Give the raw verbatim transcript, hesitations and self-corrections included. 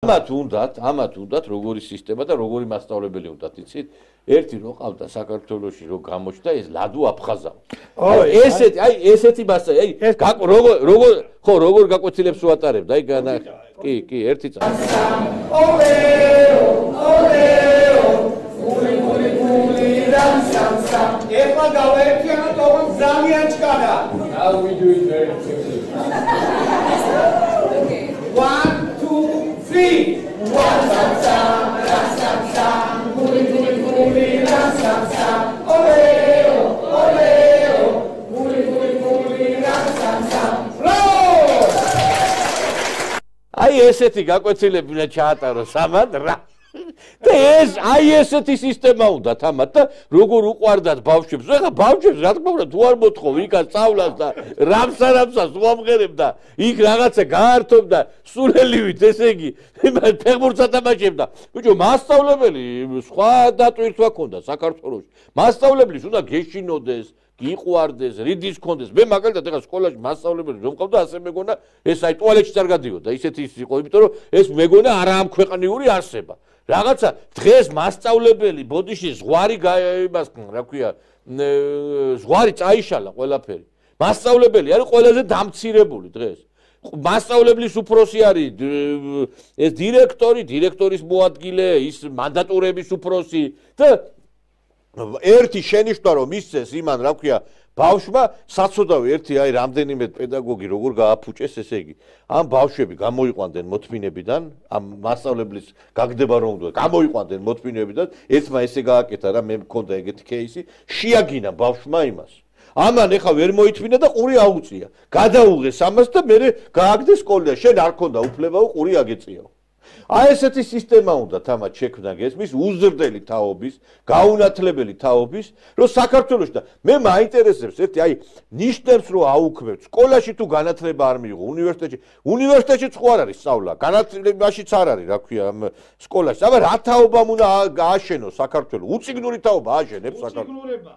ამათ უნდათ, ამათ უნდათ როგორი სისტემა და როგორი მასწავლებელი უნდათ, იცით? ერთი რო ყავდა საქართველოში რო გამოჩნდა ეს ლადო აფხაზავ. აი ესეთი, აი ესეთი მასა, აი როგორ როგორ ხო როგორ გაკვეთილებს უატარებდა, აი განა კი, კი, ერთი წამი. ოლეო, ოლეო, გული გული გული რამ სამ სამ. ეხლა გავაერთიანოთ ოღონდ ძალიან ჭკარა. Now we do it very quickly. One, two, three. One sam sam, ram sam sam, guli guli guli ram sam sam. Oleo, oleo, guli guli guli ram sam sam. Roll! Აი ესეთი გაკვეთილები უნდა ჩაატაროს ამათ რა. და ეს აი ესეთი სისტემა უნდა თამათ და როგორ უყვარდათ ბავშვებს. ეხლა ბავშვებს რა თქმა უნდა თუ არ მოთხოვ იქა სწავლას და რამსარამსას უამღერებდა იქ რაღაცა გაართობდა სულელივით ესე იგი ფეხბურთს ათამაშებდა. ბიჭო მასწავლებელი სხვა დატვირთვა ქონდა საქართველოში. მასწავლებლის უნდა გეშინოდეს გიყვარდეს, რიდის კონდეს. მე მაგალითად ეხლა სკოლაში მასწავლებელი რომ მყავდა, ასე მეგონა ეს აი ტუალეტში არ გადიოდა. ისეთი ის იყო, იმიტომ რომ ეს მეგონა არაამქვეყნიური არსება. რაღაცა დღეს მასწავლებელი ბოდიში ზღვარი იმას რა ქვია, ზღვარი წაიშალა ყველაფერი. მასწავლებელი არის ყველაზე დამცირებული დღეს. მასწავლებლის უფროსი არის ეს დირექტორი, დირექტორის მოადგილე, ის მანდატურების უფროსი და ერთი შენიშვნა რომ ისწეს იმან რა ქვია ბავშვმა საცოდავი ერთი აი რამდენიმე პედაგოგი როგორ გააფუჭეს ესე იგი ამ ბავშვები გამოიყვანდნენ მოთმინებიდან ამ მასწავლებლის გაგდება რომ უნდა გამოიყვანდნენ მოთმინებიდან ერთმა ესე გააკეთა რა მე მქონდა ეგეთი кейსი შეაგინა ბავშვმა იმას ამან ეხა ვერ მოითმინა და ყური აუწია გადაუღეს ამას და მე გააგდეს სკოლიდან შენ არ ქონდა უფლებაო ყური აგეწიაო აი ესეთი სისტემა უნდა თამათ შექმნა გესმის უზრდელი თაობის, გაუნათლებელი თაობის, რომ საქართველოში და მე მაინტერესებს ერთი აი ნიშნებს რომ აუქმებთ სკოლაში თუ განათლება არ მიიღო უნივერსიტეტში, უნივერსიტეტშიც ხო არ არის სწავლა, განათლებაშიც არ არის, რა ქვია, სკოლაში. აბა რა თაობამ უნდა გააშენოს საქართველო? უწიგნური თაობა ააშენებს საქართველო.